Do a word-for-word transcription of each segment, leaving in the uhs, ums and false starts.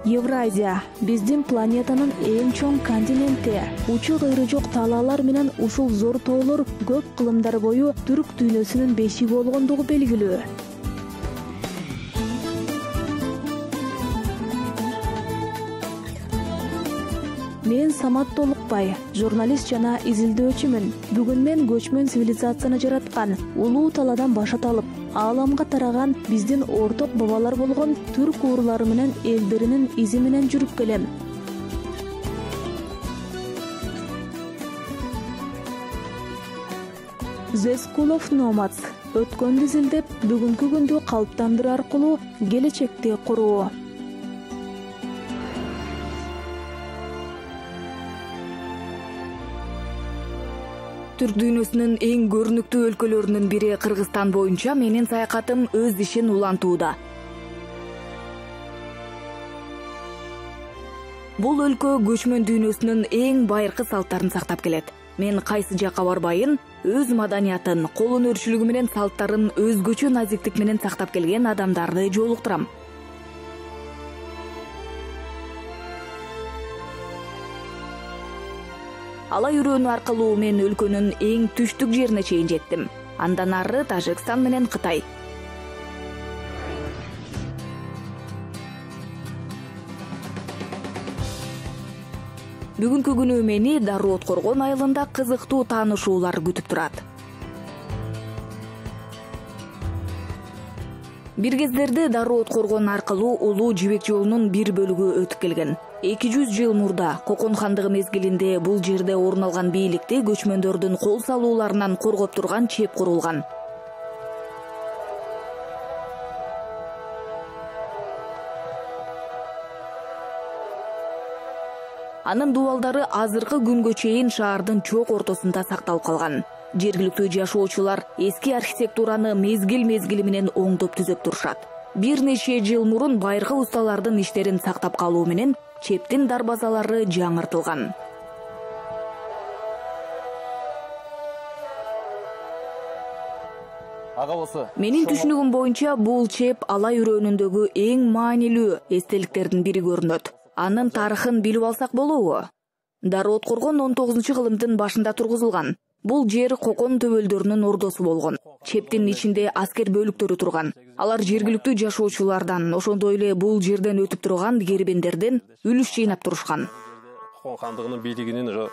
Евразия биздин планетанын эң чоң континенти. Учу кыйры жок талаалар менен ушул зор тоолор көп кылымдар бою түрк дүйнөсүнүн бешиги болгондугу белгилүү. Мен Самат Толукбай, журналист жана изилдөөчүмүн. Бүгүн мен көчмөн цивилизацияны жараткан, улуу талаадан башат алып, ааламга тараган биздин орток бабалар болгон түрк уурлары менен элдеринин изи менен жүрүп келем. The School of Nomads өткөндү изилдеп, бүгүнкү күндү калыптандыруу аркылуу келечекти куруу. Түрк дүйнөсүнүн эң көрүнүктүү өлкөлөрүнүн бири Кыргызстан боюнча менин саякатым өз ишин улантууда. Бул өлкө көчмөн дүйнөсүнүн эң байыркы салттарын сактап келет. Мен кайсы жакка барбайын, өз маданиятын, кол өнөрчүлүгү менен салттарын өзгөчө назиктик менен сактап келген адамдарды жолуктурам. Ала үйрөнүү аркылуу мен өлкөнүн эң түштүк жерине чейин жеттим. Андан ары Тажикстан менен Кытай. Бүгүнкү күнү мени Дароо Откоргон айылында кызыктуу таанышуулар күтүп турат. Бир кездерде Дароо Откоргон аркылуу улуу жибек жолунун бир бөлүгү өтүп келген. эки жүз жыл мурда Кокон хандыгы мезгилинде бул жерде орун алган бийликти көчмөндөрдүн кол салууларынан коргоп турган чеп курулган. Анын дубалдары азыркы күнгө чейин шаардын чок ортосунда сакталып калган. Жергиликтүү жашоочулар эски архитектураны мезгил-мезгили менен оңдоп түзөп турушат. Бир нече жыл мурун байыркы усталардын иштерин сактап калуу менен чептин дарбазалары жаңыртылган. Менин түшүнүгүм боюнча бул чеп ала үйрөнүндөгү эң маанилүү эстеликтердин бири көрүнөт. Анын тарыхын билип алсак болобу? Дароо Откоргон он тогузунчу кылымдын башында тургузулган. Бул жер Кокон төбөлдөрүнүн ордосу болгон. Чептин ичинде аскер бөлүктөрү турган. Алар жергиликтүү жашоочулардан, ошондой эле бул жерден өтүп турган кербендерден үлүш жыйнап турушкан. Кокон хандыгынын бийлигинин ошо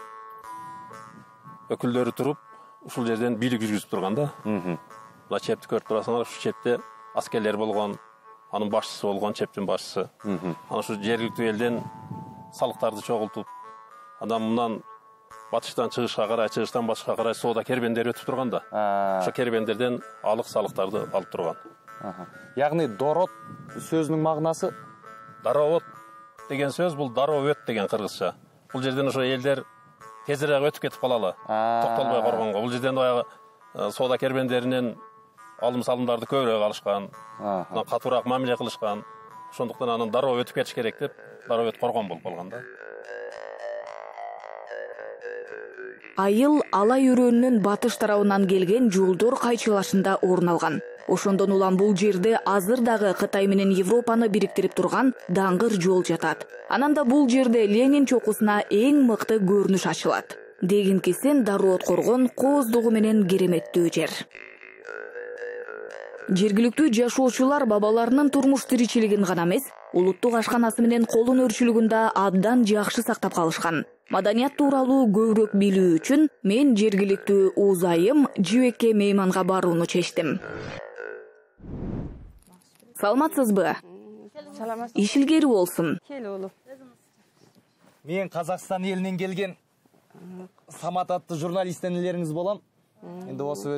өкүлдөрү туруп, ушул жерден бийлик жүргүзүп турган да. Мына чепти көрүп турасыңар, ушул чепте аскерлер болгон, анын башчысы болгон, чептин башчысы. Анан ушу жергиликтүү элден салыктарды чогултуп, андан мындан батыштан чыгышка карай, чыгыштан батышка карай соода кербендери өтүп турган да. Ошо кербендерден алык салыктарды алып турган. Ягни дорот сөзүнүн мағынасы? Дароот деген сөз бул дароо өт деген кыргызча. Бул жерден ошо элдер тезирээк өтүп кетип калалы, токтолбой коргонго. Бул жерден баягы соода кербендеринен алым салымдарды көбүрөөк алышкан, катуураак мамиле кылышкан. Ошондуктан анын дароо өтүп кетиш керек деп, дароо өт коргон болуп калган да. Айыл ала үйрөнүнүн батыш тарабынан келген жолдор кайчылашында орун алган. Ошондон улам бул жерде азыр дагы Кытай менен Европаны бириктирип турган даңгыр жол жатат. Анан да бул жерде Ленин чокусуна эң мыкты көрүнүш ачылат. Дегенкесен Дароо Откоргон кооздугу менен кереметтүү жер. Жергиликтүү жашоочулар бабаларынын турмуш тиричилигин гана эмес, улуттук ашканасы менен кол өнөрчүлүгүн да абдан жакшы сактап калышкан. Маданият тууралуу көбүрөөк билүү үчүн мен жергиликтүү уузайым жибекке мейманга барууну чечтим. Саламатсызбы? Иш илгери болсун. Мен Казакстан элинен келген Самат аттуу журналисттен илериңиз болом.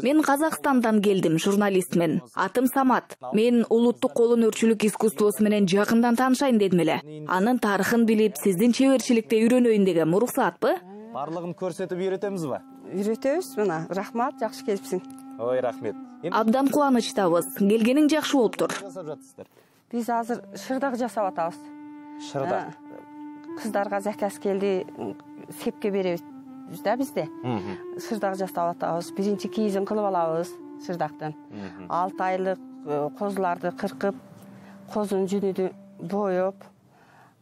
Мен Казакстандан келдим, журналистмин. Атым Самат. Мен улуттук кол өнөрчүлүк искусствосу менен жакындан таанышайын дедим эле. Анын тарыхын билип, сиздин чеберчиликте үйрөнөйүн дегем. Уруксаатпы? Барлыгын көрсөтүп үйрөтөбүзбү? Үйрөтөбүз, мына. Рахмат, жакшы келипсиң. Ой, рахмет. Абдан кубанычтабыз. Келгениң жакшы болуптур. Биз азыр шырдак жасап атабыз. Шырдак. Кыздарга заказ келди, сепке беребиз да бизде. Шырдак жасап атабыз. Биринчи кийизин кылып алабыз шырдактан. алты айлык козуларды кыркып, козунун жүнүн боеп,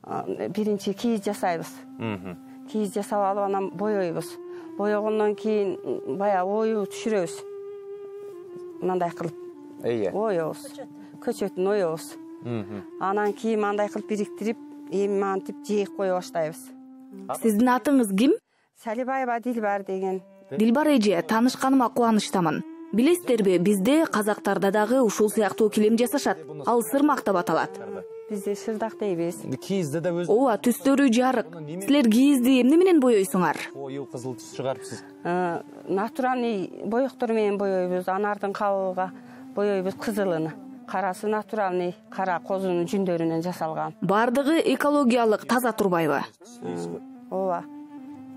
биринчи кийиз жасайбыз. Кийиз жасап алып анан боёйбуз. Боёгондон кийин баягы оюп түшүрөбүз. Мындай кылып. Оёбуз. Көчөтүн оёбуз. Анан кийин мындай кылып бириктирип, эми мантип жээк кое баштайбыз. Сиздин атыңыз ким? Салибаева Дилбар деген. Дилбар эже, таанышканыма кубанычтамын. Билесиздерби, бизде казактарда дагы ушул сыяктуу килем жасашат. Ал сырмак деп аталат. Бизде шырдак дейбиз. Кийизде да өз Ооба, түстөрү жарык. Силер кийизди эмне менен боёйсуңар? Кою кызыл түс чыгарыпсыз. Натуральный боёктор менен боёйбуз. Анардын кабыгыга боёйбуз кызылыны. Карасы натуральный, кара козунун жүндөрүнөн жасалган. Бардыгы экологиялык таза турбайбы? Ооба.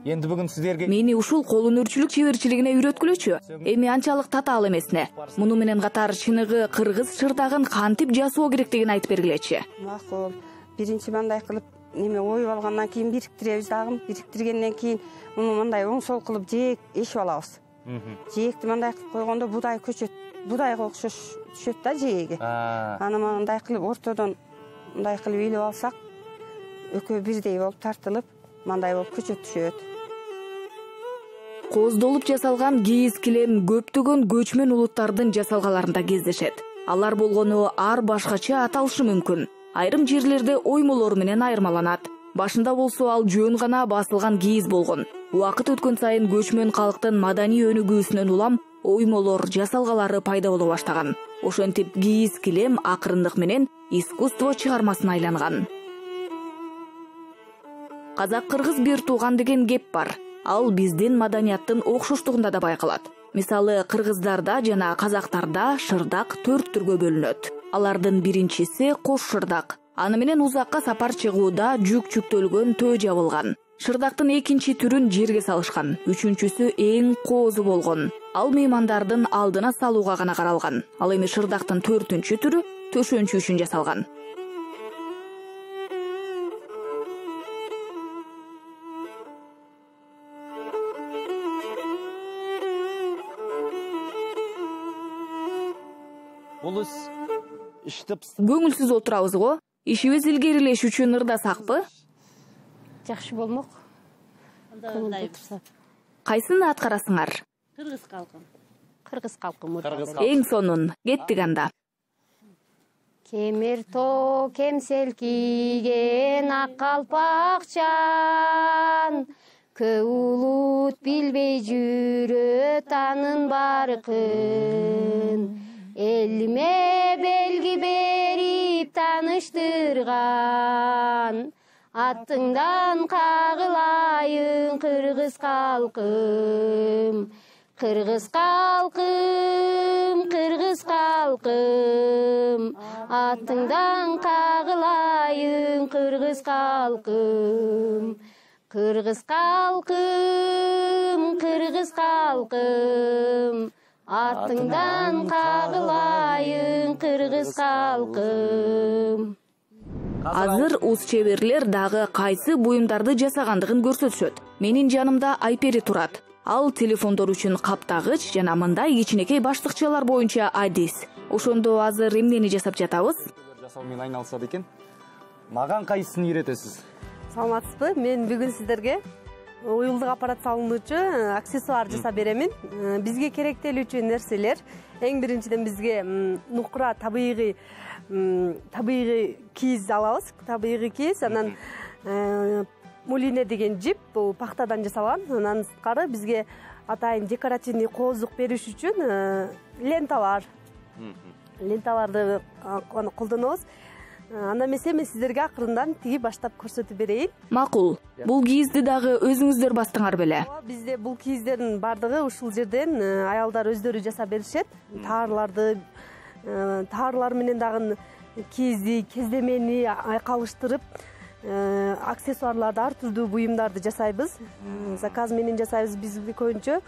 Энди бүгүн сиздерге Мени ушул кол өнөрчүлүк чеберчилигине үйрөткүлөчү. Эми анчалык татаал эмесине. Муну менен катар чыныгы кыргыз шырдагын кантип жасоо керектигин айтып бергилечи. Макул. Биринчи мындай кылып неме оюп алгандан кийин бириктиребиз дагы. Бириктиргенден кийин муну мындай оң сол кылып жээк эшип алабыз. Жээкти мындай кылып койгондо будай көчөт, будайга окшош түшөт да жээги. Аны мындай кылып ортодон мындай кылып илип алсак, экөө бирдей болуп тартылып, мындай болуп көчөт түшөт. Коздолуп жасалган кийиз килем көптөгөн көчмөн улуттардын жасалгаларында кездешет. Алар болгону ар башкача аталышы мүмкүн. Айрым жерлерде оймолор менен айырмаланат. Башында болсо ал жөн гана басылган кийиз болгон. Убакыт өткөн сайын көчмөн калктын маданий өнүгүүсүнөн улам оймолор, жасалгалары пайда боло баштаган. Ошентип кийиз килем акырындык менен искусство чыгармасына айланган. Казак-кыргыз бир тууган деген кеп бар. Ал биздин маданияттын окшоштугунда да байкалат. Мисалы, кыргыздарда жана казактарда шырдак төрт түргө бөлүнөт. Алардын биринчиси кош шырдак. Аны менен узакка сапар чыгууда жүк жүктөлгөн төө жабылган. Шырдактын экинчи түрүн жерге салышкан. Үчүнчүсү эң коозу болгон. Ал меймандардын алдына салууга гана каралган. Ал эми шырдактын төртүнчү түрү төшөнчү үчүн жасалган. бул ис иштеп Көңүлсүз отурабыз го. Ишибиз илгерилеш үчүн ырдасакпы? Жакшы болмок. Кайсыны аткарасыңар? Кыргыз калкын. Кыргыз калкын. Эң сонун, кеттик анда. Кемер тоо кемсел кийген ак калпакчан, көө улут билбей жүрөт анын баркын. Элиме белги берип тааныштырган, аттыңдан кагылайын кыргыз калкым. Кыргыз калкым, кыргыз калкым, аттыңдан кагылайын кыргыз калкым. Кыргыз калкым, кыргыз калкым, аттыңдан кагылайын кыргыз калкым. Азыр уз чеберлер дагы кайсы буюмдарды жасагандыгын көрсөтүшөт. Менин жанымда Айпери турат. Ал телефондор үчүн каптагыч жана мындай кичинекей баштыкчалар боюнча адис. Ошондо азыр эмнени жасап жатабыз? Жасоо менен айналышат экен. Маган кайсысын үйрөтөсүз? Саламатсызбы? Мен бүгүн сиздерге уюлдук аппарат салынуучу аксессуар жасап беремин. Бизге керектелүүчү нерселер эң биринчиден бизге нукура табигый табигый кийиз алабыз. Табигый кийиз, анан мулине деген жип, бул пахтадан жасалган. Анан сырткары бизге атайын декоративный коозлук бериш үчүн ленталар. Ленталарды колдонобуз. Анда эмесе мен сиздерге акырындан тиги баштап көрсөтүп берейин. Макул. Бул кийизди дагы өзүңүздөр бастыңар беле? Бизде бул кийиздердин бардыгы ушул жерден аялдар өздөрү жасап беришет. Таарларды, таарлар менен дагы кийизди, кездемени айкалыштырып, аксессуарларды, ар түрдүү буюмдарды жасайбыз. Заказ менен жасайбыз. Биз көбүнчө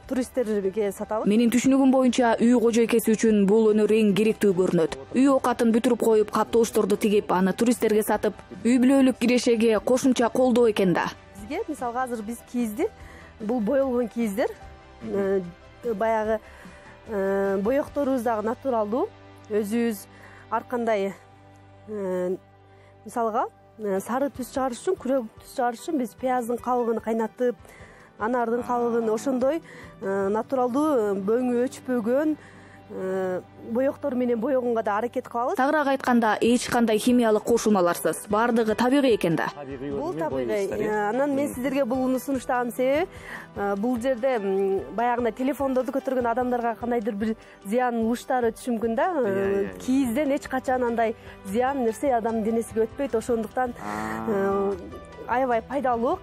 туристтерге сатабыз. Менин түшүнүгүм боюнча үй кожойкеси үчүн бул өнөр эң керектүү көрүнөт. Үй оокатын бүтүрүп коюп, каптоошторду тигип, аны туристтерге сатып, үй бүлөлүк кирешеге кошумча колдоо экен да. Бизге мисалга азыр биз кийизди, бул боелгон кийиздер, баягы боекторубуз дагы натуралдуу, өзүбүз ар кандай мисалга сары түс чыгарыш үчүн, күрөк түс чыгарыш үчүн биз пияздын кабыгын кайнатып, анардын кабыгын ошондой натуралдуу бөңү өчпөгөн боектор менен боегонго да аракет кылабыз. Тагыраак айтканда, эч кандай химиялык кошулмаларсыз. Бардыгы табигый экен да. Бул табигый. Анан мен сиздерге бул сунуштаган себеби бул жерде баягындай телефондорду көтөргөн адамдарга кандайдыр бир зыян угуштары түшү мүмкүн да. Кийизден эч качан андай зыян нерсе адамдын денесине өтпөйт. Ошондуктан аябай пайдалуу.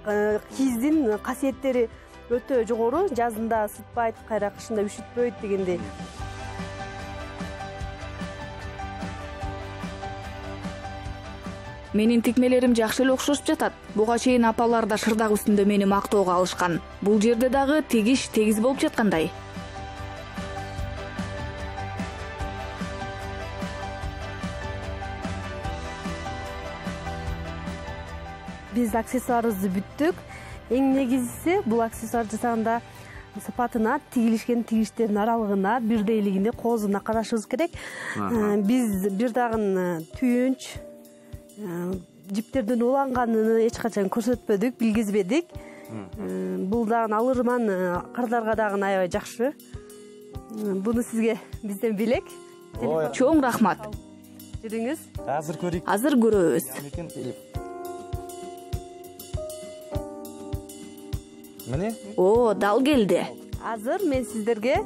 Кийиздин касиеттери өтө жогору. Жазында ысытпайт, кайра кышында üşүтпөйт дегендей. Менин тикмелерим жакшы эле окшошуп жатат. Буга чейин апалар да шырдак үстүндө мени мактоого алышкан. Бул жерде дагы тегиш тегиз болуп жаткандай. Биз аксессуарыбызды бүттүк. Эң негизгиси бул аксессуар жасаганда сапатына, тигилишкен тигиштердин аралыгына, бирдейлигине, коозуна карашыбыз керек. Биз бир дагы түйүнч, жиптердин уланганын эч качан көрсөтпөдүк, билгизбедик. Бул дагы алырман кырдарга дагы аябай жакшы. Буну сизге бизден белек. Чоң рахмат. Жүрүңүз. Азыр көрөйүк. Азыр көрөбүз. Міне. О, дал келди. Азыр мен сиздерге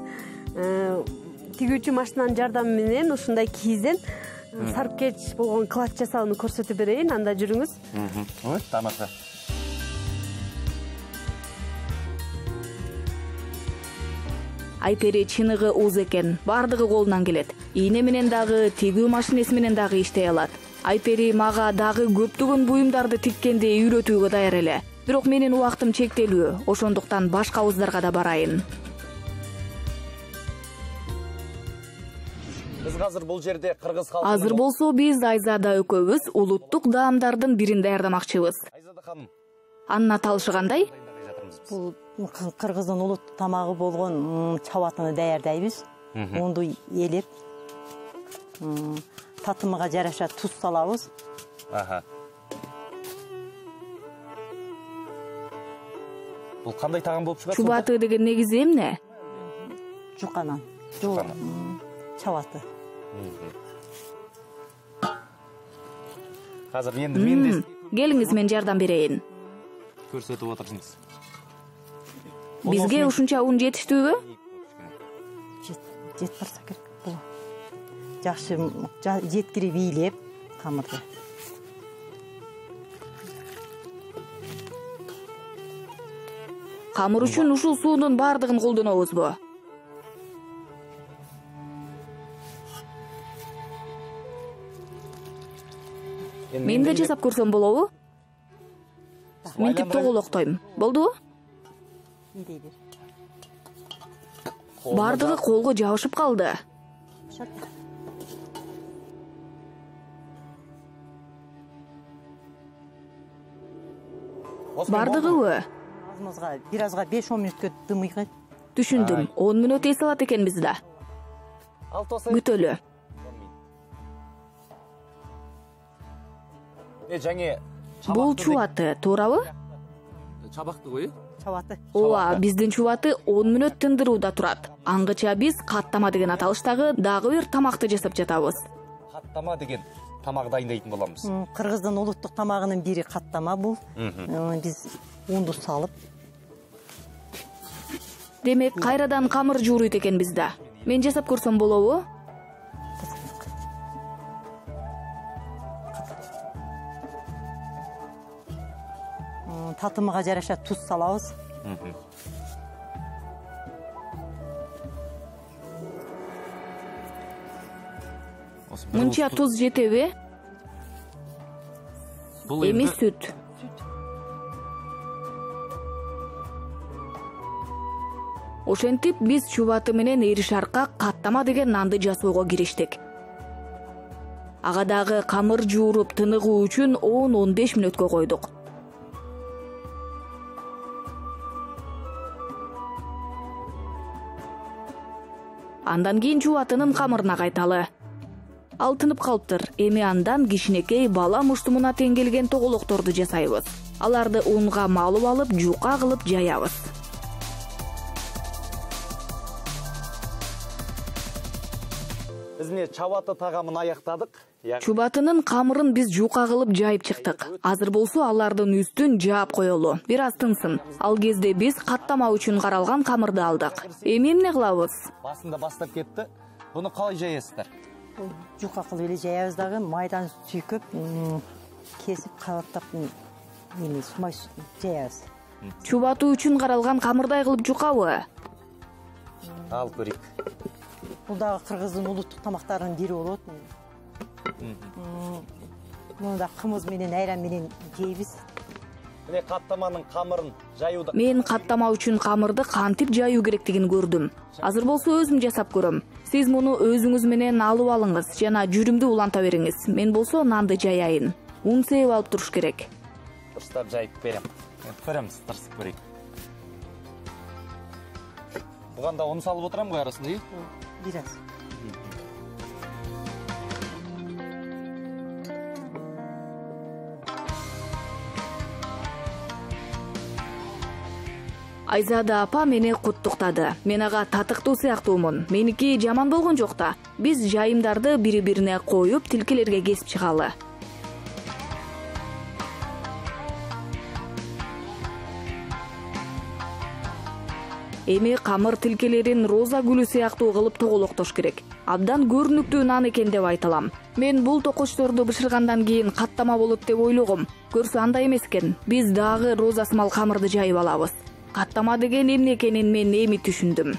тигүүчү машинанын жардамы менен ушундай кийизден сарпкеч болгон клатч жасауну көрсөтүп берейин. Анда жүрүңүз. Ой, тамаша. Айпери чыныгы уз экен. Бардыгы колунан келет. Ийне менен дагы, тигүү машинеси менен дагы иштей алат. Айпери мага дагы көптөгөн буюмдарды тиккенди үйрөтүүгө даяр эле. Бирок менин убактым чектелүү, ошондуктан башка уздарга да барайын. Биз азыр бул жерде кыргыз халкы. Азыр болсо биз Айзада экөөбүз улуттук даамдардын бирин даярдамакчыбыз. Айзада ханым. Анын аталышы кандай? Бул кыргыздын улуттук тамагы болгон чабатыны даярдайбыз. Унду элеп, татымыга жараша туз салабыз. Аха. Бул кандай тагам болуп чыгат? Чубаты деген негизи эмне? Жуканан. Жуканан. Чабаты. Азыр энди мен келиңиз мен жардам берейин. Көрсөтүп отурсуңуз. Бизге ушунча ун жетиштүүбү? Жет барса керек. Бул жакшы жеткирип бийлеп камырды. Камыр үчүн ушул суунун бардыгын колдонобузбу? Мен да жасап көрсөм болобу? Минтип тоголоктойм. Болдубу? Бардыгы колго жабышып калды. Бардыгыбы? Азымызга бир азга беш он мүнөткө дымыйгат. Түшүндүм. он мүнөт эс алат экенбиз да. Күтөлү. Э, жаңы Бул чубаты, туурабы? Чабакты кой? Чабаты. Ооба, биздин чубаты он мүнөт тындырууда турат. Аңгыча биз каттама деген аталыштагы дагы бир тамакты жасап жатабыз. Каттама деген тамак дайындайтын боламыз. Кыргыздын улуттук тамагынын бири каттама бул. Биз унду салып. Демек, кайрадан камыр жууруйт экенбиз да. Мен жасап көрсөм болобу? Татымыга жараша туз салабыз. Мынча туз жетеби? Бул эми сүт. Ошентип биз чубаты менен эришарка каттама деген нанды жасоого кириштик. Ага дагы камыр жууруп тыныгуу үчүн он он беш мүнөткө койдук. Андан кийин чубатынын камырына кайталы. алтынып калыптыр. Эми андан кичинекей бала муштумуна тең келген тоголокторду жасайбыз. Аларды унга малып алып, жука кылып жаябыз. Биз эмне чабаты тагамын аяктадык. Чубатынын камырын биз жука кылып жайып чыктык. Азыр болсо алардын үстүн жаап коелу. Бир аз тынсын. Ал кезде биз каттама үчүн каралган камырды алдык. Эми эмне кылабыз? Басында баштап кетти. Буну калай жаясыздар? Жука кылып эле жаябыз дагы, майдан сүйкөп, кесип кабаттап эми сумай жаябыз. Чубатуу үчүн каралган камырдай кылып жукабы? Алып көрөйүк. Бул дагы кыргыздын улуттук тамактарынын бири болот. Муну да кымыз менен, айран менен жейбиз. Міне каттаманын камырын жаюуда. Мен каттама үчүн камырды кантип жаюу керектигин көрдүм. Азыр болсо өзүм жасап көрөм. Сиз муну өзүңүз менен алып алыңыз жана жүрүмдү уланта бериңиз. Мен болсо нанды жаяйын. Un сээп алып туруш керек. Дурстап жайып берем. Көрөмүз, тырсып көрөйүк. Буганда un салып отурам го арасында, э? Бир аз. Айзада апа мени куттуктады. Мен ага татыктуу сыяктуумун. Меники жаман болгон жок да. Биз жайымдарды бири-бирине коюп, тилкелерге кесип чыгалы. Эми камыр тилкелерин роза гүлү сыяктуу кылып тоголоктош керек. Абдан көрүнүктүү нан экен деп айталам. Мен бул токочторду бышыргандан кийин каттама болот деп ойлогом. Көрсө андай эмес экен. Биз дагы розасымал камырды жайып алабыз. Каттама деген эмне экенин мен эми түшүндүм.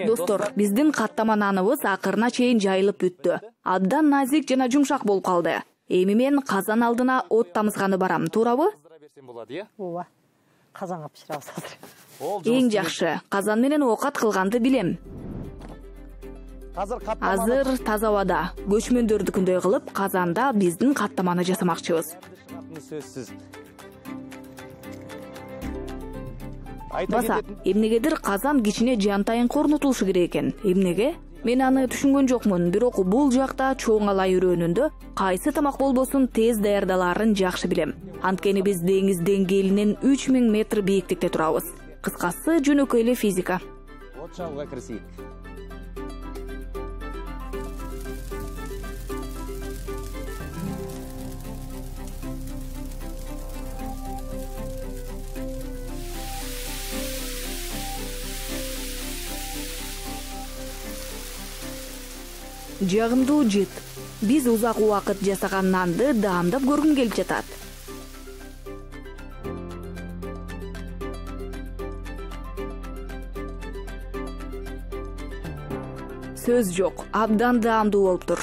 Достор, биздин каттама наныбыз акырына чейин жайылып бүттү. Абдан назик жана жумшак болуп калды. Эми мен казан алдына от тамызганы барам, туурабы? Ооба. Казанга бышырабыз азыр. Эң жакшы. Казан менен оокат кылганды билем. Азыр таза абада көчмөндөрдүкүндөй кылып казанда биздин каттаманы жасамакчыбыз. Баса, эмнегедир казан кичине жантайын корнотулушу керек экен. Эмнеге? Мен аны түшүнгөн жокмун, бирок бул жакта чоң алай өрөөнүндө кайсы тамак болбосун тез даярдалаарын жакшы билем. Анткени биз деңиз деңгээлинен үч миң метр бийиктикте турабыз. Кыскасы жөнөкөй эле физика. От чалууга киришейик. Жагымдуу жыт. Биз узак убакыт жасаган нанды даамдап көргүм келип жатат. Сөз жок, абдан даамдуу болуптур.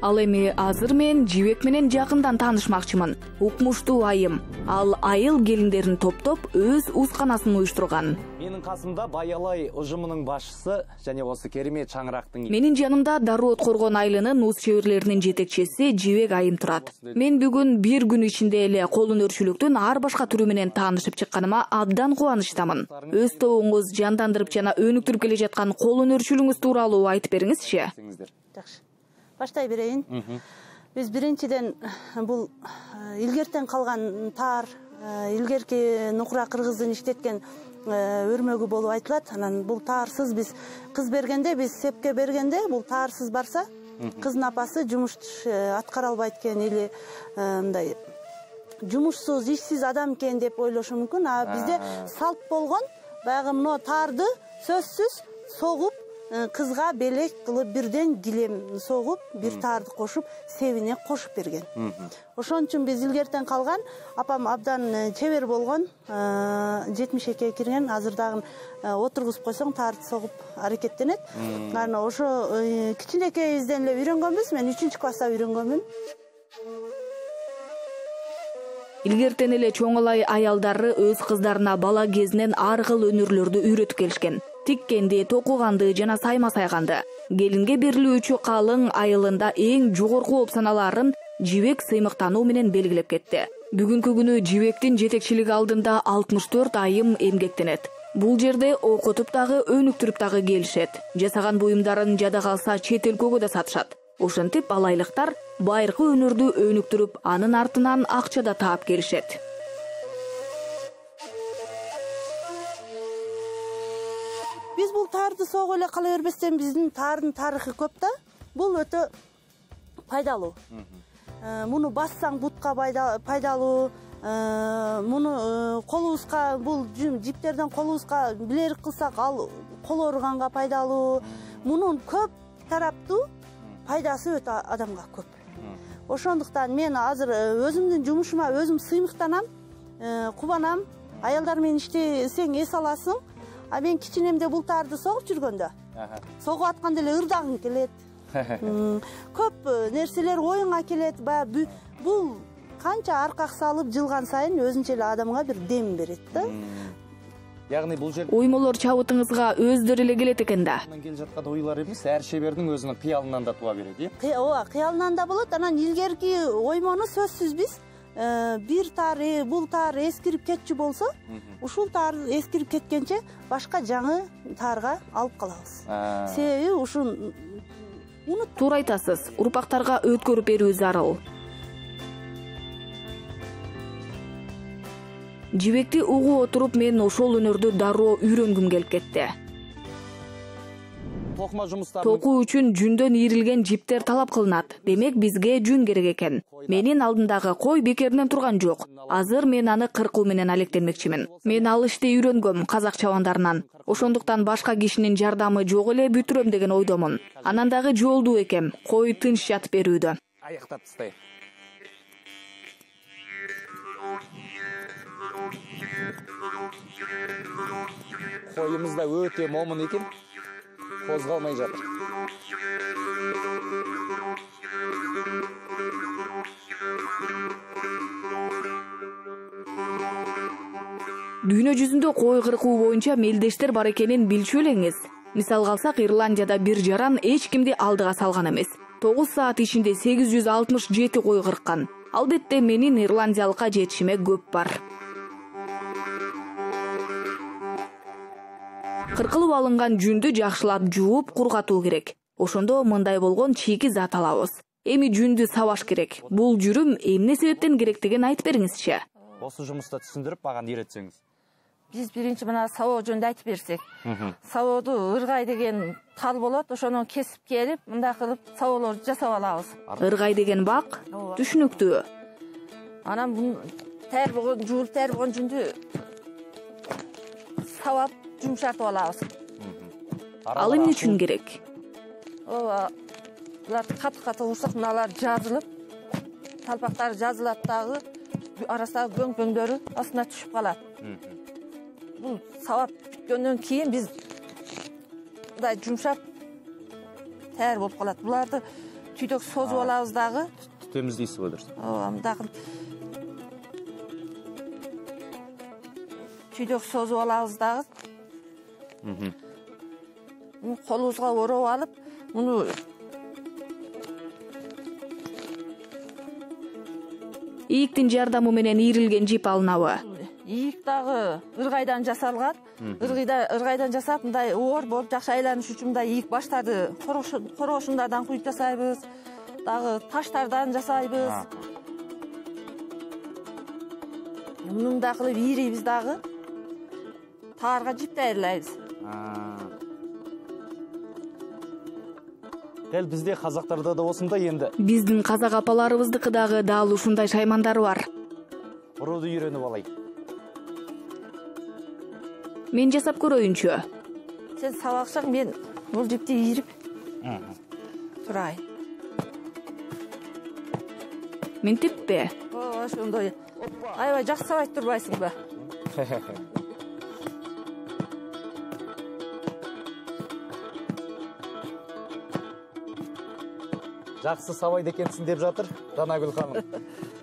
Ал эми азыр мен жибек менен жакындан таанышмакчымын. Укмуштуу айым. Ал айыл келиндерин топтоп өз узканасын уюштурган. Менин касымда Баялай ужумунун башчысы жана осы керемет чаңырактын. Менин жанымда Дароо Откоргон айылынын уз чеберлеринин жетекчиси Жибек айым турат. Мен бүгүн бир күн ичинде эле кол өнөрчүлүктүн ар башка түрү менен таанышып чыкканыма абдан кубанычтамын. Өз тобуңуз жандандырып жана өнүктүрүп келе жаткан кол өнөрчүлүгүңүз тууралуу айтып бериңизчи. Жакшы. Баштай берейин. Биз биринчиден бул илгертен калган таар, илгерки Нукура кыргыздын иштеткен өрмөгү болуп айтылат. Анан бул таарсыз биз кыз бергенде, биз сепке бергенде бул таарсыз барса, кыздын апасы жумуш аткара албайт экен или мындай жумушсуз, ишсиз адам экен деп ойлошу мүмкүн. А бизде салт болгон баягы мына таарды сөзсүз согуп, кызга белек кылып бирден килем согуп, бир таарды кошуп, себине кошуп берген. Ошон үчүн биз илгертен калган, апам абдан чебер болгон, жетимиш экиге кирген, азыр дагы отургузуп койсоң таарды согуп аракеттенет. Анан ошо кичинекейибизден эле үйрөнгөнбүз, мен үчүнчү класста үйрөнгөнмүн. Илгертен эле чоң алай аялдары өз кыздарына бала кезинен ар кыл өнөрлөрдү үйрөтүп келишкен. Тиккенди, токуганды жана сайма сайганды. Келинге берилүүчү калың айылында эң жогорку болуп саналаарын Жибек сыймыктануу менен белгилеп кетти. Бүгүнкү күнү жибектин жетекчилиги алдында алтымыш төрт айым эмгектенет. Бул жерде окутуп дагы өнүктүрүп дагы келишет. Жасаган буюмдарын жада калса чет өлкөгө да сатышат. Ошентип алайлыктар байыркы өнөрдү өнүктүрүп, анын артынан акча да таап келишет. Биз бул тарды согуп эле кала бербестен биздин тардын тарыхы көп да. Бул өтө пайдалуу. Муну бассаң бутка пайдалуу, муну колубузга, бул жиптерден колубузга билерик кылсак, ал кол ооруганга пайдалуу. Мунун көп тараптуу пайдасы өтө адамга көп. Ошондуктан мен азыр өзүмдүн жумушума өзүм сыймыктанам, кубанам. Аялдар менен иштесең эс аласың. А мен кичинемде бул тарды согуп жүргөндө, согуп атканда эле ырдагың келет. Көп нерселер оюңа келет. Баягы бул канча аркак салып жылган сайын өзүнчө эле адамга бир дем берет да. Ягни бул жер оймолор чабытыңызга өздөрү эле келет экен да. Келе жаткан ойлор эмес, ар шебердин өзүнүн кыялынан да туа берет, э? Ооба, кыялынан да болот. Анан илгерки оймону сөзсүз биз бир тар, бул тар эскирип кетчү болсо, ушул тар эскирип кеткенче башка жаңы тарга алып калабыз. Себеби ушун туура айтасыз, урпактарга өткөрүп берүү зарыл. Жибекти угуп отуруп мен ошол өнөрдү дароо үйрөнгүм келип кетти. Токма жумуштары Токуу үчүн жүндөн ийрилген жиптер талап кылынат. Демек бизге жүн керек экен. Менин алдымдагы кой бекеринен турган жок. Азыр мен аны кыркуу менен алектенмекчимин. Мен ал ишти үйрөнгөм казак чабандарынан. Ошондуктан башка кишинин жардамы жок эле бүтүрөм деген ойдомун. Анан дагы жолдуу экем. Кой тынч жатып берүүдө. Аяктап тастай. Коюмуз да өтө момун экен. Козголмай жатыр. Дүйнө жүзүндө кой кыркуу боюнча мелдештер бар экенин билчү элеңиз. Мисалга алсак, Ирландияда бир жаран эч кимди алдыга салган эмес. тогуз саат ичинде сегиз жүз алтымыш жети кой кырккан. Албетте менин ирландиялыкка жетишиме көп бар. Кыркылып алынган жүндү жакшылап жууп, кургатуу керек. Ошондо мындай болгон чийки зат алабыз. Эми жүндү сабаш керек. Бул жүрүм эмне себептен керектигин айтып бериңизчи. Осы жумушта түшүндүрүп мага үйрөтсөңүз. Биз биринчи мына сабоо жөнүндө айтып берсек. Сабооду ыргай деген тал болот, ошону кесип келип, мындай кылып сабоолорду жасап алабыз. Ыргай деген бак түшүнүктүү. Анан бул тер болгон, жуулуп тер болгон жүндү сабап жумшартып алабыз. Ал эмне үчүн керек? Ооба, булар каты-каты урсак, мыналар жазылып, талпактары жазылат дагы, арасындагы көң-көңдөрү астына түшүп калат. Бул сабап бүткөндөн кийин биз мындай жумшап таяр болуп калат. Буларды түйдөк созуп алабыз дагы. Темиздейсиз го дурус. Ооба, мындай түйдөк созуп алабыз дагы. Муну колубузга ороп алып, муну ийиктин жардамы менен ийрилген жип алынабы? Ийик дагы ыргайдан жасалган. Ыргайдан жасап, мындай оор болуп жакшы айланыш үчүн мындай ийик баштарды корошундардан куюп жасайбыз. Дагы таштардан жасайбыз. Муну да кылып ийрейбиз дагы. Таарга жип даярдайбыз. Дел бизде казактарда да осундай энди. Биздин казак апаларыбыздыкы дагы дал ушундай шаймандары бар. Урууду үйрөнүп алайын. Мен жасап көрөйүнчү. Сен сабаксаң, мен бул жипти ийрип турайын. Минтиппи? Ооба, ошондой. Аябай жакшы сабайт турбайсыңбы? Жакшы сабайт экенсиң деп жатыр Данагүл ханым.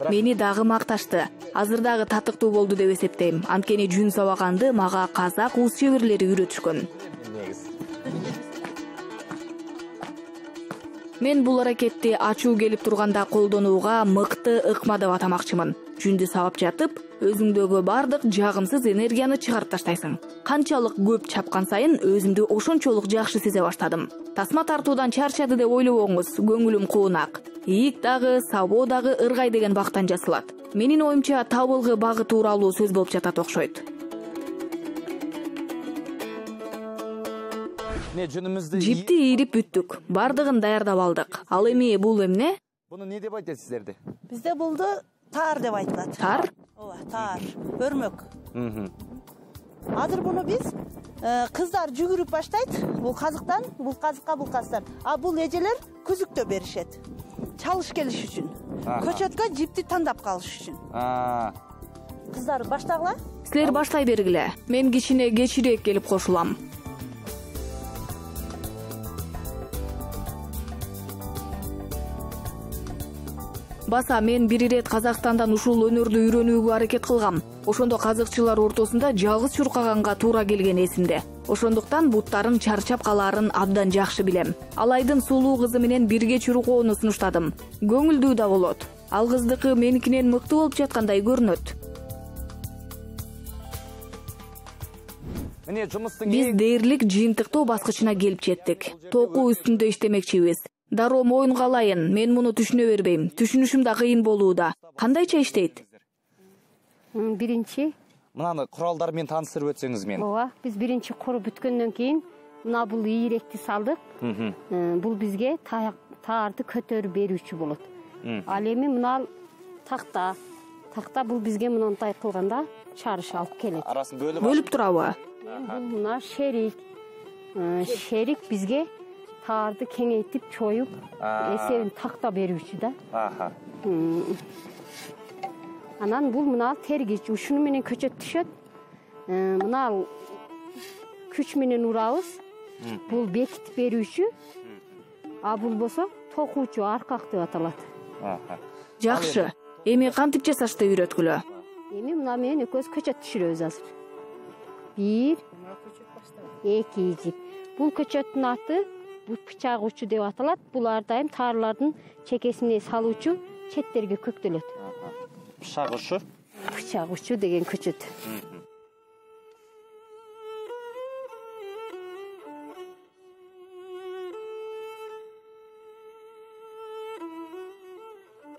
Мени дагы макташты. Азыр дагы татыктуу болду деп эсептейм. Анткени жүн сабаганды мага казак уус чеберлери үйрөтүшкөн. Мен бул аракетти ачуу келип турганда колдонууга мыкты ыкма деп атамакчымын. жүндү сабап жатып өзүңдөгү бардык жагымсыз энергияны чыгарып таштайсың. Канчалык көп чапкан сайын өзүмдү ошончолук жакшы сезе баштадым. Тасма тартуудан чарчады деп ойлобоңуз, көңүлүм куунак. Ийик дагы, сабоо дагы ыргай деген бактан жасалат. Менин оюмча табылгы багы тууралуу сөз болуп жатат окшойт. Жипти ийрип бүттүк. Бардыгын даярдап алдык. Ал эми бул эмне? Буну не деп айтат сиздерде? Бизде булду таар деп айтылат. Таар? Ооба, таар, өрмөк. Азыр буну биз кыздар жүгүрүп баштайт. Бул казыктан, бул казыкка, бул казыктан. А бул эжелер күзүктө беришет. Чалыш келиш үчүн. Көчөткө жипти тандап калыш үчүн. Кыздар баштагыла? Силер баштай бергиле. Мен кичине кечирээк келип кошулам. Баса мен бир ирет Казакстандан ушул өнөрдү үйрөнүүгө аракет кылгам. Ошондо казыкчылар ортосунда жалгыз чуркаганга туура келген эсимде. Ошондуктан буттарын чарчап калаарын абдан жакшы билем. Алайдын сулуу кызы менен бирге чуркоону сунуштадым. Көңүлдүү да болот. Ал кыздыкы меникинен мыкты болуп жаткандай көрүнөт. Биз дээрлик жыйынтыктоо баскычына келип жеттик. Токуу үстүндө иштемекчибиз. Дароо моюнга алайын, мен муну түшүнө бербейм. Түшүнүшүм да кыйын болууда. Кандайча иштейт? Биринчи. Мынаны куралдар менен тааныстырып өтсөңүз мен. Ооба, биз биринчи куруп бүткөндөн кийин мына бул ийректи салдык. Бул бизге таарды көтөрүп берүүчү болот. Ал эми мына такта. Такта бул бизге мындай кылганда чарыш алып келет. Арасын бөлүп Бөлүп турабы? Бул мына шерик. Шерик бизге таарды кеңейтип чоюп эсебин такта берүүчү да. Анан бул мына тергич, ушуну менен көчөт түшөт. Мына күч менен урабыз. Бул бекитип берүүчү. А бул болсо токуучу, аркак деп аталат. Жакшы. Эми кантип жасашты үйрөткүлө? Эми мына менен экөөбүз көчөт түшүрөбүз азыр. Бир, эки жип. Бул көчөттүн аты бул бычак учу деп аталат. Бул ар дайым таарлардын чекесине салуучу, четтерге көктөлөт. Бычак учу? Бычак учу деген көчөт.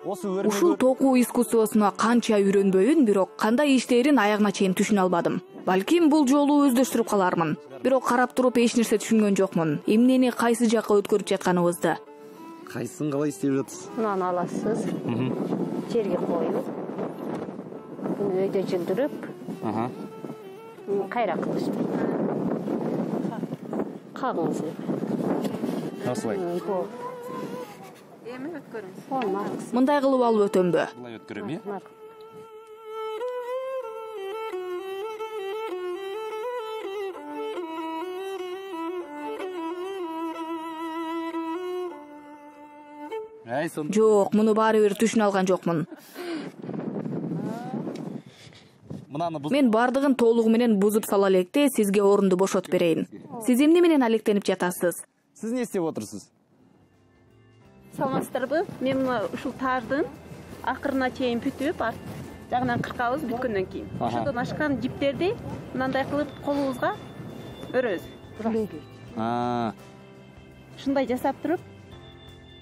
Ушул токуу искусствосуна канча үйрөнбөйүн, бирок кандай иштээрин аягына чейин түшүнө албадым. Балким бул жолу өздөштүрүп калармын. Бирок карап туруп эч нерсе түшүнгөн жокмун. Эмнени кайсы жакка өткөрүп жатканыбызды. Кайсын калай иштеп жатасыз? Мынаны аласыз. Жерге коюп. Буну өйдө жылдырып. Кайра кылыш. Кагыңыз. Насылай? Эми өткөрүңүз. Мындай кылып алып өтөмбү? Булай өткөрөм, э? Жок, муну баары бир түшүнө алган жокмун. Мен бардыгын толугу менен бузуп сала электе сизге орунду бошотуп берейин. Сиз эмне менен алектенип жатасыз? Сиз не иштеп отурсуз? Саламатсыздарбы? Мен ушул таардын акырына чейин бүтүп, арт жагынан кыркабыз бүткөндөн кийин. Ошодон ашкан жиптерди мындай кылып колубузга өрөбүз. Ушундай жасап туруп,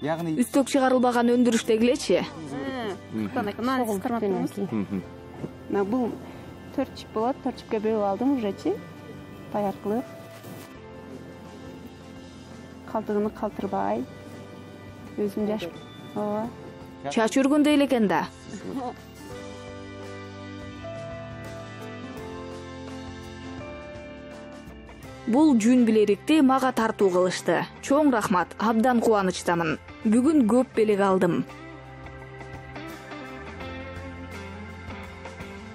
Ягни үстөк чыгарылбаган өндүрүштегилечи? Мына сиз кармап туруңуз. Мына бул төрт жип болот, төрт жипке бөлүп алдым ужечи. Даяр кылып. Калтыгыны калтырбай. Өзүм жашып. Ооба. Чач өргөндөй эле экен да. Бул жүн билерикти мага тартуу кылышты. Чоң рахмат, абдан кубанычтамын. Бүгүн көп белек алдым.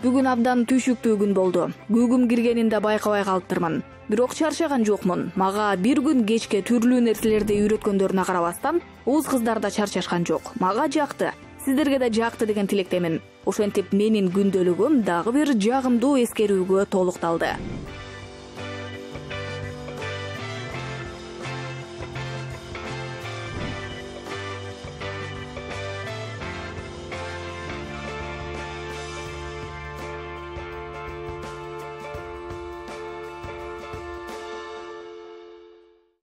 Бүгүн абдан түйшүктүү күн болду. Көгүм киргенин да байкабай калыптырмын. Бирок чарчаган жокмун. Мага бир күн кечке түрлүү нерселерди үйрөткөндөрүнө карабастан, уз кыздар да чарчашкан жок. Мага жакты. Сиздерге да жакты деген тилектемин. Ошентип менин күндөлүгүм дагы бир жагымдуу эскерүүгө толукталды.